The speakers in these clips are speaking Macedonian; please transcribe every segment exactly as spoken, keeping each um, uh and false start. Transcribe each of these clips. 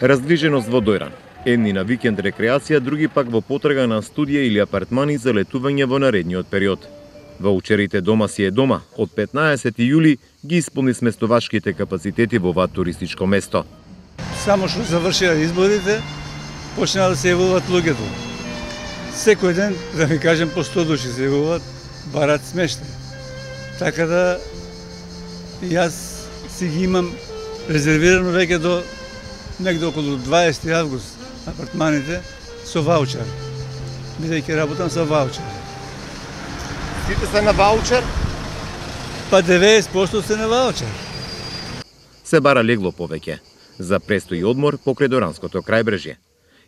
Раздвиженост во Дојран. Едни на викенд рекреација, други пак во потрага на студија или апартмани за летување во наредниот период. Ваучерите Дома си е дома од петнаесети јули ги исполни сместовачките капацитети во ова туристичко место. Само што завршија изборите, почнаа да се јавуваат луѓето. Секој ден, да ви кажем, по сто души се јавуваат, барат смештај. Така да јас си ги имам резервирано веќе до негде околу дваесети август апартманите со ваучер. Бидејќи работам со ваучер. Сите се на ваучер? Па деветдесет проценти се на ваучер. Се бара легло повеќе за престој и одмор покрај Доранското крајбрежје.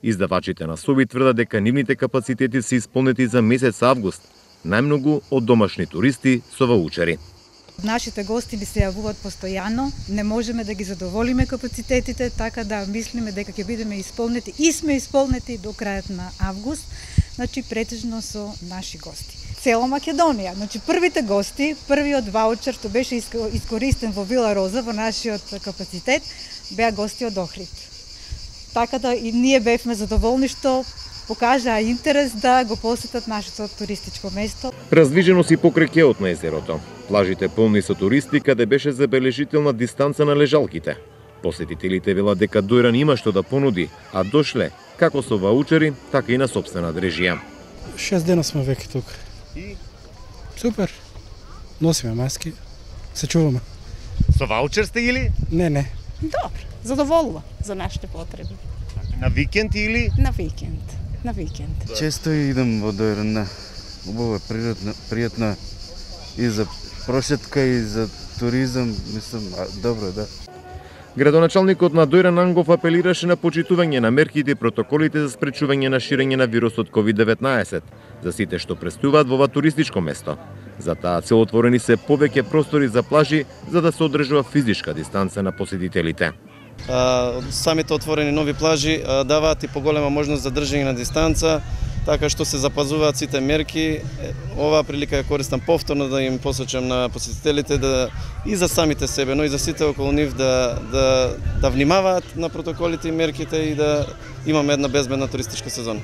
Издавачите на соби тврдат дека нивните капацитети се исполнети за месец август, најмногу од домашни туристи со ваучери. Нашите гости ни се јавуваат постојано, не можеме да ги задоволиме капацитетите, така да мислиме дека ќе бидеме исполнети и сме исполнети до крајот на август, значи претежно со наши гости. Цела Македонија, значи првите гости, првиот ваучер што беше искористен во Вила Роза во нашиот капацитет, беа гости од Охрид. Така да и ние бевме задоволни што покажаа интерес да го посетат нашето туристичко место. Раздвижено си покрај кеот на езерото. Плажите полни со туристи, каде беше забележителна дистанца на лежалките. Посетителите велат дека Дојран има што да понуди, а дошле како со ваучери, така и на сопствена дрежија. Шест дена сме веќе тук. И? Супер. Носиме маски, се чуваме. Со ваучер сте или? Не, не. Добро, задоволува за нашите потреби. На викенд или? На викенд. На викенд. Често идам во Дојран. Убаво е, пријатно, пријатно и за прошетка и за туризам, мислам, добро, да. Градоначалникот на Дојран Ангов апелираше на почитување на мерките и протоколите за спречување на ширење на вирусот ковид деветнаесет за сите што престуваат во ова туристичко место. За таа цел отворени се повеќе простори за плажи за да се одржува физичка дистанца на посетителите. Самите отворени нови плажи даваат и поголема можност за држање на дистанца, така што се запазуваат сите мерки. Оваа прилика ја користам повторно да им посочам на посетителите да и за самите себе, но и за сите околу нив да да да внимаваат на протоколите и мерките и да имаме една безбедна туристичка сезона.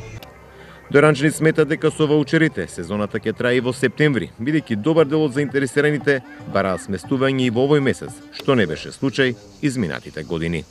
Дојранчани сметат дека со ваучерите сезоната ќе трае и во септември, бидејќи добар дел од заинтересираните бараат сместување и во овој месец, што не беше случај изминатите години.